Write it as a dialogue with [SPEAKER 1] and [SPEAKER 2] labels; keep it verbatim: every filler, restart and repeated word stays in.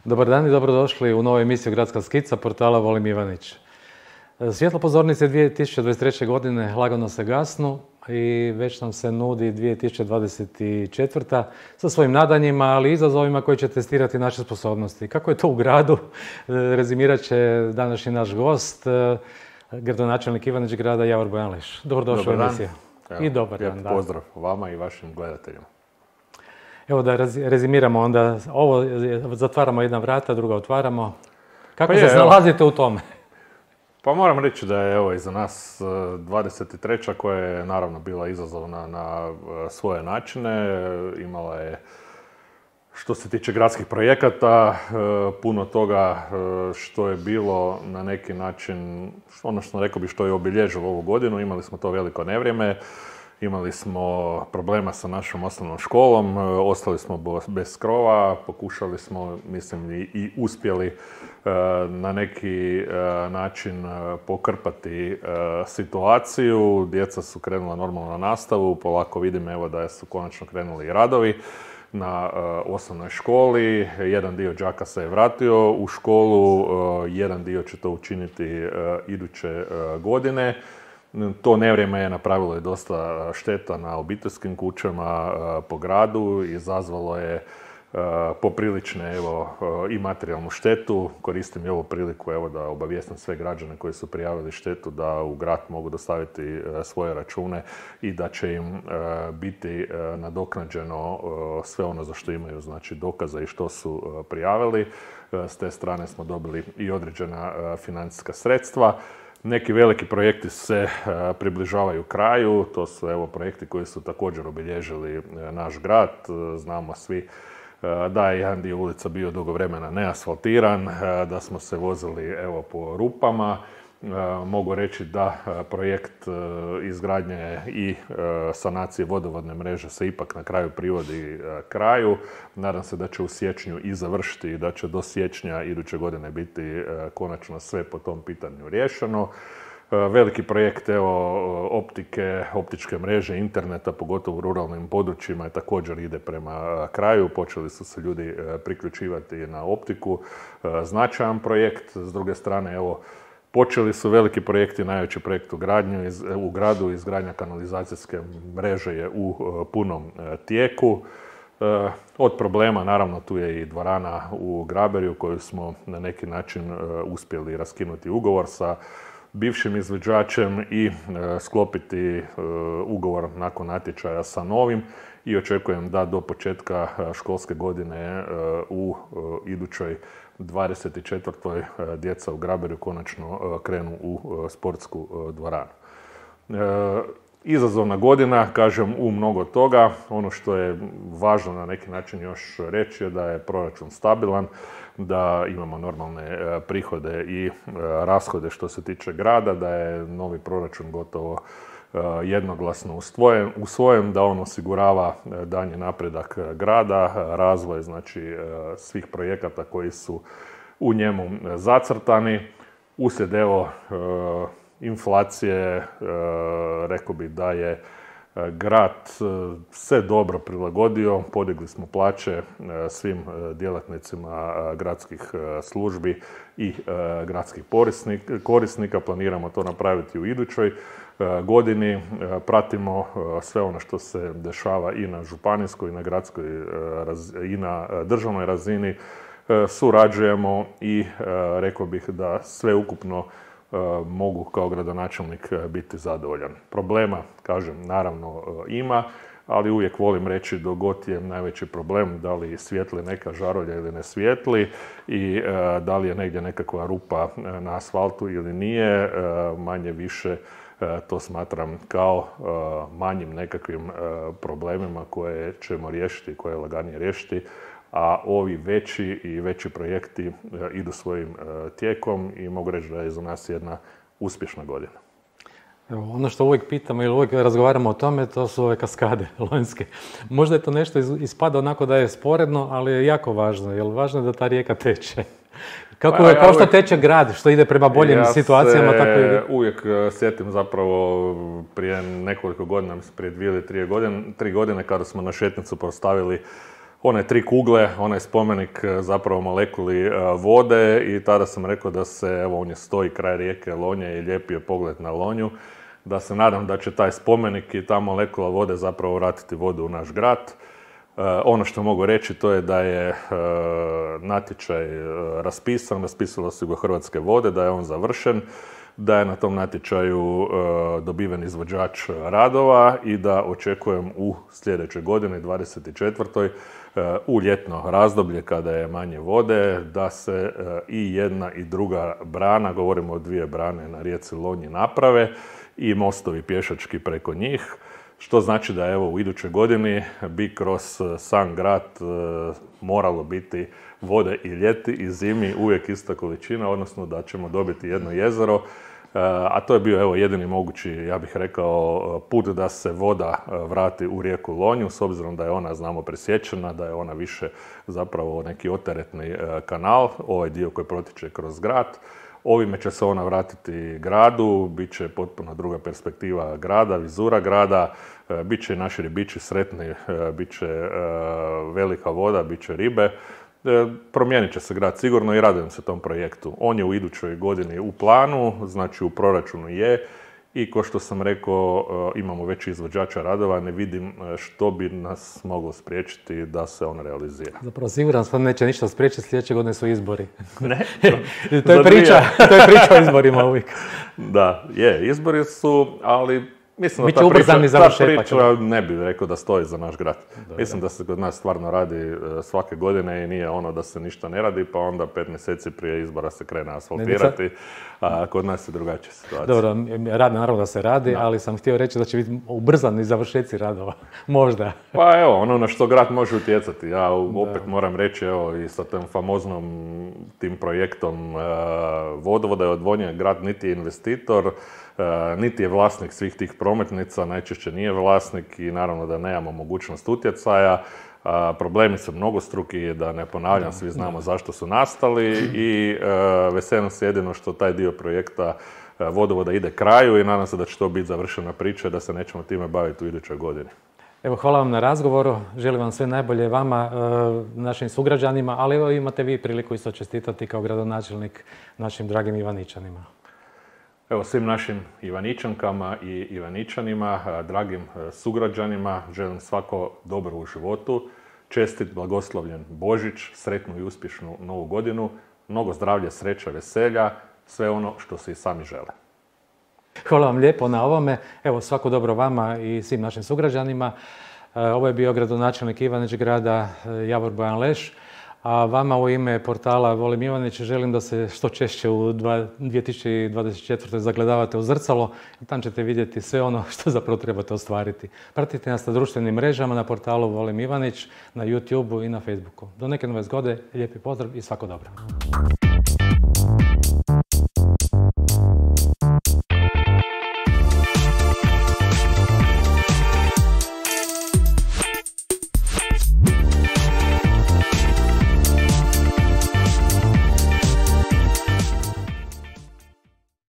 [SPEAKER 1] Dobar dan i dobrodošli u novu emisiju Gradska skica portala Volim Ivanić. Svjetlo pozornice dvije tisuće dvadeset treće. godine lagano se gasnu i već nam se nudi dvije tisuće dvadeset četvrta. sa svojim nadanjima, ali i izazovima koji će testirati naše sposobnosti. Kako je to u gradu, rezimirat će današnji naš gost, gradonačelnik Ivanić grada Javor Bojanić. Dobrodošli u emisiju. I dobar dan.
[SPEAKER 2] Lijep pozdrav vama i vašim gledateljima.
[SPEAKER 1] Evo da rezimiramo onda, ovo zatvaramo jedna vrata, druga otvaramo. Kako
[SPEAKER 2] pa
[SPEAKER 1] se
[SPEAKER 2] je,
[SPEAKER 1] snalazite u tome?
[SPEAKER 2] Pa moram reći da je evo iza nas dvadeset treća koja je naravno bila izazovna na svoje načine. Imala je, što se tiče gradskih projekata, puno toga što je bilo na neki način, ono što rekao bi što je obilježilo ovu godinu. Imali smo to veliko nevrijeme. Imali smo problema sa našom osnovnom školom, ostali smo bez krova, pokušali smo, mislim, i, i uspjeli e, na neki e, način pokrpati e, situaciju. Djeca su krenula normalno na nastavu, polako vidim evo da su konačno krenuli i radovi na e, osnovnoj školi. Jedan dio đaka se je vratio u školu, e, jedan dio će to učiniti e, iduće e, godine. To nevrijeme je napravilo i dosta šteta na obiteljskim kućama po gradu, izazvalo je poprilične evo, i materijalnu štetu. Koristim i ovu priliku evo, da obavijestim sve građane koji su prijavili štetu da u grad mogu dostaviti svoje račune i da će im biti nadoknađeno sve ono za što imaju, znači dokaza i što su prijavili. S te strane smo dobili i određena financijska sredstva. Neki veliki projekti se uh, približavaju kraju, to su evo projekti koji su također obilježili uh, naš grad. Uh, znamo svi uh, da je jedan dio ulica bio dugo vremena neasfaltiran, uh, da smo se vozili evo po rupama. Uh, mogu reći da uh, projekt uh, izgradnje i uh, sanacije vodovodne mreže se ipak na kraju privodi uh, kraju. Nadam se da će u siječnju i završiti i da će do siječnja iduće godine biti uh, konačno sve po tom pitanju riješeno. Uh, veliki projekt evo, optike, optičke mreže, interneta, pogotovo u ruralnim područjima, također ide prema uh, kraju. Počeli su se ljudi uh, priključivati na optiku. Uh, značajan projekt. S druge strane, evo, počeli su veliki projekti, najveći projekt u, gradnju, iz, u gradu, izgradnja kanalizacijske mreže je u uh, punom uh, tijeku. Uh, od problema, naravno, tu je i dvorana u Graberju koju smo na neki način uh, uspjeli raskinuti ugovor sa bivšim izvođačem i uh, sklopiti uh, ugovor nakon natječaja sa novim i očekujem da do početka uh, školske godine uh, u uh, idućoj dvadeset četvrtoj djeca u Graberju konačno krenu u sportsku dvoranu. Izazovna godina, kažem, u mnogo toga. Ono što je važno na neki način još reći je da je proračun stabilan, da imamo normalne prihode i rashode što se tiče grada, da je novi proračun gotovo jednoglasno usvojen, usvojen, da on osigurava daljnji napredak grada, razvoj znači svih projekata koji su u njemu zacrtani. Uslijed evo inflacije, rekao bih da je grad se dobro prilagodio, podigli smo plaće svim djelatnicima gradskih službi i gradskih korisnika, planiramo to napraviti u idućoj godini. Pratimo sve ono što se dešava i na županijskoj, i na gradskoj, i na državnoj razini. Surađujemo i rekao bih da sve ukupno mogu kao gradonačelnik biti zadovoljan. Problema, kažem, naravno ima, ali uvijek volim reći dok god je najveći problem da li svijetli neka žarulja ili ne svijetli i da li je negdje nekakva rupa na asfaltu ili nije, manje više to smatram kao manjim nekakvim problemima koje ćemo riješiti, koje je laganije riješiti, a ovi veći i veći projekti idu svojim tijekom i mogu reći da je za nas jedna uspješna godina.
[SPEAKER 1] Evo, ono što uvijek pitamo ili uvijek razgovaramo o tome, to su ove kaskade lonjske. Možda je to nešto ispada onako da je sporedno, ali je jako važno, jer važno je da ta rijeka teče. Kako,
[SPEAKER 2] Pa, ja
[SPEAKER 1] kao što
[SPEAKER 2] uvijek-
[SPEAKER 1] teče grad, što ide prema boljim
[SPEAKER 2] ja
[SPEAKER 1] situacijama,
[SPEAKER 2] se
[SPEAKER 1] tako i vi.
[SPEAKER 2] uvijek e, sjetim zapravo prije nekoliko godina, mislim prije dvije ili tri godine, tri godine kada smo na Šetnicu postavili one tri kugle, onaj spomenik e, zapravo molekuli e, vode i tada sam rekao da se, evo on je stoji kraj rijeke Lonje i lijepi je pogled na Lonju, da se nadam da će taj spomenik i ta molekula vode zapravo vratiti vodu u naš grad. Uh, ono što mogu reći to je da je uh, natječaj uh, raspisan, raspisalo su ga Hrvatske vode, da je on završen, da je na tom natječaju uh, dobiven izvođač radova i da očekujem u sljedećoj godini, dvadeset četvrtoj uh, u ljetno razdoblje kada je manje vode, da se uh, i jedna i druga brana, govorimo o dvije brane na rijeci Lonji, naprave i mostovi pješački preko njih. Što znači da evo u idućoj godini bi kroz sam grad e, moralo biti vode i ljeti i zimi uvijek ista količina, odnosno da ćemo dobiti jedno jezero, e, a to je bio evo jedini mogući, ja bih rekao, put da se voda vrati u rijeku Lonju, s obzirom da je ona, znamo, presječena, da je ona više zapravo neki oteretni e, kanal, ovaj dio koji protiče kroz grad. Ovime će se ona vratiti gradu, bit će potpuno druga perspektiva grada, vizura grada, e, bit će i naši ribiči sretni, e, bit će e, velika voda, bit će ribe. E, promijenit će se grad sigurno i radujem se tom projektu. On je u idućoj godini u planu, znači u proračunu je i kao što sam rekao, e, imamo već izvođača radova, ne vidim e, što bi nas moglo spriječiti da se on realizira.
[SPEAKER 1] Zapravo siguran sam neće ništa spriječiti, sljedeće godine su izbori.
[SPEAKER 2] Ne,
[SPEAKER 1] to je priča, to je priča o izborima uvijek.
[SPEAKER 2] Da, je, izbori su, ali mislim da
[SPEAKER 1] Biće
[SPEAKER 2] ta priča,
[SPEAKER 1] ubrzani
[SPEAKER 2] ta
[SPEAKER 1] završetak.
[SPEAKER 2] priča ne bih rekao da stoji za naš grad.
[SPEAKER 1] Dobro.
[SPEAKER 2] Mislim da se kod nas stvarno radi e, svake godine i nije ono da se ništa ne radi, pa onda pet mjeseci prije izbora se krene asfaltirati, a kod nas je drugačija situacija.
[SPEAKER 1] Dobro, rad naravno da se radi,
[SPEAKER 2] Da.
[SPEAKER 1] ali sam htio reći da će biti ubrzani završeci radova. Možda.
[SPEAKER 2] Pa evo, ono na što grad može utjecati. Ja u- opet moram reći, evo, i sa tim famoznom tim projektom e, vodovoda i odvodnje, grad niti je investitor, e, niti je vlasnik svih tih prometnica, najčešće nije vlasnik i naravno da nemamo mogućnost utjecaja. A, problemi su mnogostruki, da ne ponavljam, svi znamo zašto su nastali i e, veselim se jedino što taj dio projekta e, vodovoda ide kraju i nadam se da će to biti završena priča i da se nećemo time baviti u idućoj godini.
[SPEAKER 1] Evo, hvala vam na razgovoru, želim vam sve najbolje vama, e, našim sugrađanima, ali evo imate vi priliku isto čestitati kao gradonačelnik našim dragim Ivaničanima.
[SPEAKER 2] Evo, svim našim Ivaničankama i Ivaničanima, a, dragim e, sugrađanima, želim svako dobro u životu, čestit, blagoslovljen Božić, sretnu i uspješnu novu godinu, mnogo zdravlja, sreća, veselja, sve ono što se i sami žele.
[SPEAKER 1] Hvala vam lijepo na ovome. Evo, svako dobro vama i svim našim sugrađanima. E, Ovo je bio gradonačelnik Ivanić grada e, Javor Bojan Leš. A vama u ime portala Volim Ivanić želim da se što češće u dva- dvije tisuće dvadeset četvrtoj zagledavate u zrcalo i tam ćete vidjeti sve ono što zapravo trebate ostvariti. Pratite nas na društvenim mrežama, na portalu Volim Ivanić, na YouTubeu i na Facebooku. Do neke nove zgode, lijepi pozdrav i svako dobro.